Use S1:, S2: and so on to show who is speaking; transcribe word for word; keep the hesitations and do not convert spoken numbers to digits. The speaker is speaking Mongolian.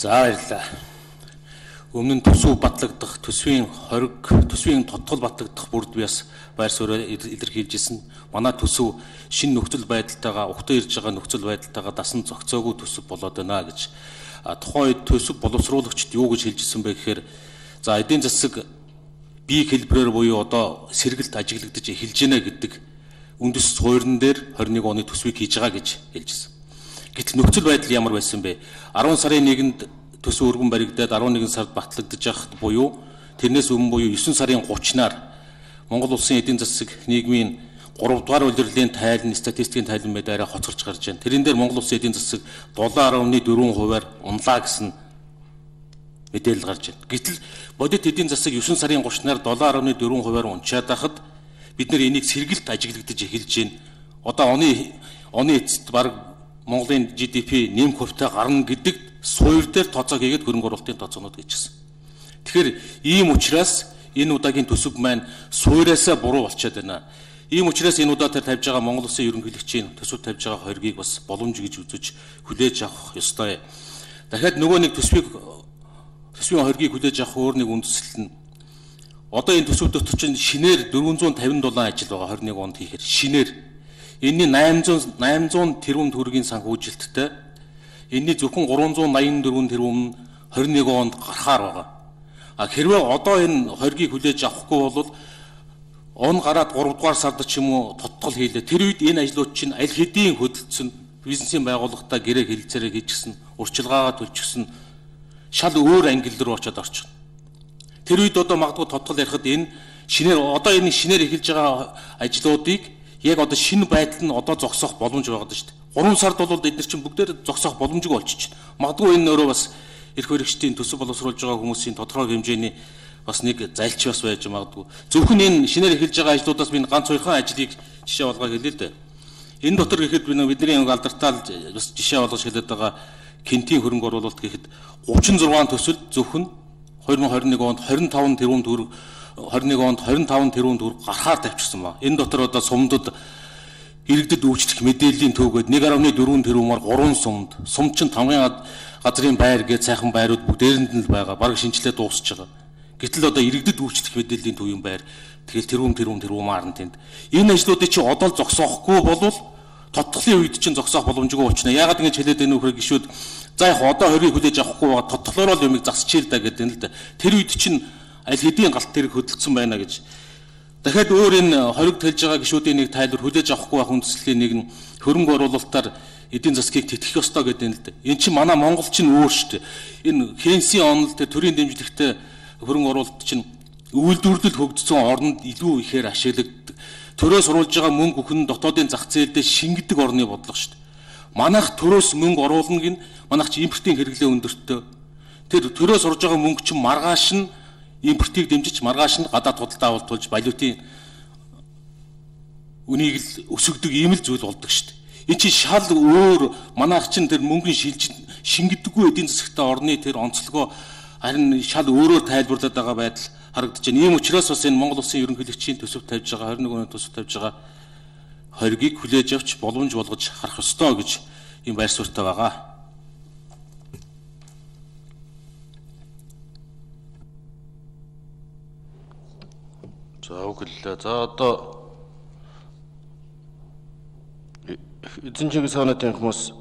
S1: За баярлалаа. Өмнө нь төсөв батлагдах, төсвийн хориг, төсвийн тодтол батлагдах бүрд би бас байр суурь илэрхийлжсэн. Манай төсөв шинэ нөхцөл байдалтайгаа, ухтаа ирж байгаа нөхцөл байдалтайгаа дасан зохицоогүй төсөв болоод байна гэж. Тухайн үед төсөв боловсруулагчид юу гэж хэлжсэн бэ гэхээр за эдийн засаг бие хэлбэрээр буюу одоо сэргэлт ажиглагдаж эхэлж байна гэдэг үндэс суурин дээр хорин нэг оны төсвийг хийж байгаа гэж хэлжсэн. Гэтэл нөхцөл байдал ямар байсан бэ? арван сарын нэгэнд төсөв өргөн баригдаад арван нэгэн сард батлагдаж байхад буюу тэрнээс өмнө буюу евдугаар сарын гуравчнаар Монгол улсын эдийн засаг нийгмийн гурав дугаар улирлын тайлан, статистикийн тайлан мэд арай хоцорч гарч байна. Тэрэн дээр Монгол улсын эдийн засаг долоо арван дөрвөн хувиар унлаа гэсэн мэдээлэл гарч байна. Гэтэл бодит эдийн засаг евдугаар сарын гуравчнаар долоо арван дөрвөн хувиар унчаад байхад бид нэр энийг сэргэлт ажиглагдаж эхэлж байна. Одоо оны оны эцэст баг Монголын G D P нэмэх хувьтай гарна гэдэг суур дээр тооцоо хийгээд хөрөнгө оруулалтын тооцоонууд хийчихсэн. Тэгэхээр ийм учраас энэ удаагийн төсөв маань суураасаа буруу болчиход байна. Ийм учраас энэ удаа тэр тавьж байгаа Монгол Улсын ерөнхийлөгчийн төсөв тавьж байгаа хоргийг бас боломж гэж үзэж хүлээж авах ёстой. Дахиад нөгөө нэг төсвийг төсвийн хоргийг хүлээж авах өөр нэг үндэслэл нь одоо энэ төсөв дотор чинь шинээр дөрвөн зуун тавин долоо ажил байгаа хорин нэг онд хийхээр шинээр энэний найман зуун тэрбум төгрөгийн санхүүжилттэй энэний зөвхөн гурван зуун найман дөрвөн тэрбум хорин нэг онд гарахаар байгаа. А хэрвээ одоо энэ хоргийг хүлээж авахгүй бол он гараад гурав дугаар сард ч юм уу тодтол хийлээ. Тэр үед энэ ажлууд чинь аль хэдийн хөдөлсөн бизнесийн байгууллагатай гэрээ хэлэлцээрээ хийчихсэн, урчилгаагаа төлчихсөн шал өөр ангил руу очиод орчихно. Тэр үед одоо магадгүй тодтол ярихад энэ шинээр одоо энэ шинээр эхэлж байгаа ажлуудыг яг одоо шинэ байдал нь одоо зогсоох боломж байгаа даа шүү дээ. гурван сард бол бид нар чинь бүгдээр зогсоох боломжгүй болчихно. Магадгүй энэ өөрөө бас эрх баригчдын төсөв боловсруулж байгаа хүмүүсийн тодорхой хэмжээний бас нэг зайлч бас байж магадгүй. Зөвхөн энэ шинээр эхэлж байгаа ажлуудаас би ганц хоёрхан ажлыг жишээ болгоо хэлээ л дээ. Энэ дотор гэхэд би бидний алдартай бас жишээ болгож хэлээд байгаа Кентийн хөрөнгө оруулалт гэхэд гучин зургаан төсөл зөвхөн две тысячи двадцать один онд двадцать пять тэрбум төгрөг двадцать один онд двадцать пять тэрбум төгрөг гарахаар тавьчихсан ба. Энэ дотор одоо сумдад иргэдэд үйлчлэх мэдээллийн төвгөд one point four тэрбумаар гурван сумд, сумд чинь тамгын газрын байр гэж сайхан байрууд бүгдээрэнд нь л байгаа. Бараг шинжилгээ дуусч байгаа. Гэтэл одоо иргэдэд үйлчлэх мэдээллийн төвийн байр тэгэл тэрбум тэрбум тэрбумаар нь тэнд. Энэ ажлуудыг чи одоо л зогсоохгүй болвол тодтолын үед чинь зогсоох боломжгүй болчихно. Яагаад ингэж хэлээд энэ нөхөр гişүүд за яг одоо хорийг хүлээж авахгүй байгаа тодтолоороо л юмыг засчихъя л да гэдэг нь л да. Тэр үед чинь аль хэдийн галт тэрэг хөдөлсөн байна гэж. Дахиад өөр энэ хориг тэлж байгаа гişүүдийн нэг тайлбар хүлээж авахгүй байх үндслийн нэг нь хөрөнгө оруулалтаар эдийн засгийг тэтгэх ёстой гэдэг нь л да. Энэ чинь манай Монгол чинь өөр шүү дээ. Энэ Хенсийн онол тэр төрийн дэмжлэгтэй хөрөнгө оруулалт чинь үйлдвэрлэл хөгжсөн орнд илүү ихээр ашиглагддаг. Төрөөс оруулж байгаа мөнгө бүхэн дотоодын зах зээлдээ шингэдэг орны бодлого шүү дээ. Манайх төрөөс мөнгө оруулна гин манайх чи импортын хэрэглээ өндөртөө. Тэр төрөөс орж байгаа мөнгө чинь маргааш нь импортыг дэмжиж маргааш нь гадаад худалдаа авалт болж валютын үнийг л өсгдөг ийм л зүйл болдог шүү дээ. Энэ чинь шал өөр манайх чинь тэр мөнгөний шилж шингэдэггүй эдийн засагтай орны тэр онцлогоо харин шал өөрөөр тайлбарлаад байгаа байдал харагдаж байна. Ийм учраас бас энэ Монгол Улсын ерөнхийлөгчийн төсөв тавьж байгаа двадцать one оны төсөв тавьж байгаа хоргийг хүлээж авч боломж болгож харах ёстой гэж ийм байр суурьтай байгаа.
S2: За өглөө. За одоо эзэн чиглэл санаатын хүмүүс